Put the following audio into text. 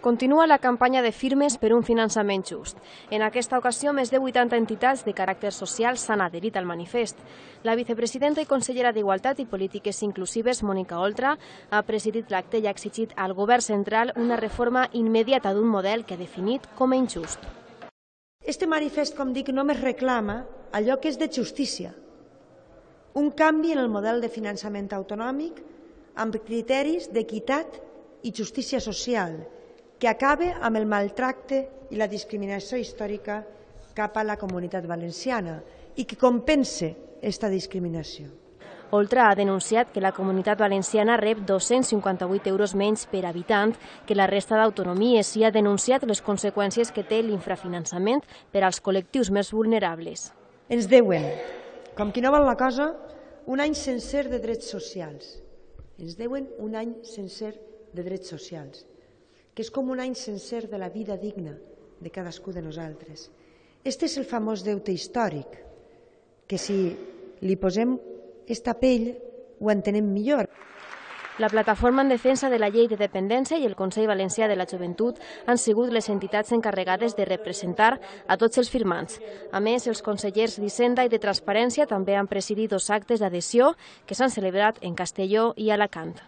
Continua la campanya de firmes per un finançament just. En aquesta ocasió, més de 80 entitats de caràcter social s'han adherit al manifest. La vicepresidenta i consellera d'Igualtat i Polítiques Inclusives, Mònica Oltra, ha presidit l'acte i ha exigit al govern central una reforma immediata d'un model que ha definit com a injust. Este manifest, com dic, només reclama allò que és de justícia. Un canvi en el model de finançament autonòmic amb criteris d'equitat i justícia social, que acabe amb el maltracte i la discriminació històrica cap a la comunitat valenciana i que compense aquesta discriminació. Oltra ha denunciat que la comunitat valenciana rep 258 euros menys per habitant que la resta d'autonomies i ha denunciat les conseqüències que té l'infrafinançament per als col·lectius més vulnerables. Ens deuen, com qui no vol la cosa, un any sencer de drets socials. Ens deuen un any sencer de drets socials, que és com un any sencer de la vida digna de cadascú de nosaltres. Este és el famós deute històric, que si li posem esta pell ho entenem millor. La Plataforma en Defensa de la Llei de Dependència i el Consell Valencià de la Joventut han sigut les entitats encarregades de representar a tots els firmants. A més, els consellers d'Hisenda i de Transparència també han presidit 2 actes d'adhesió que s'han celebrat en Castelló i Alacant.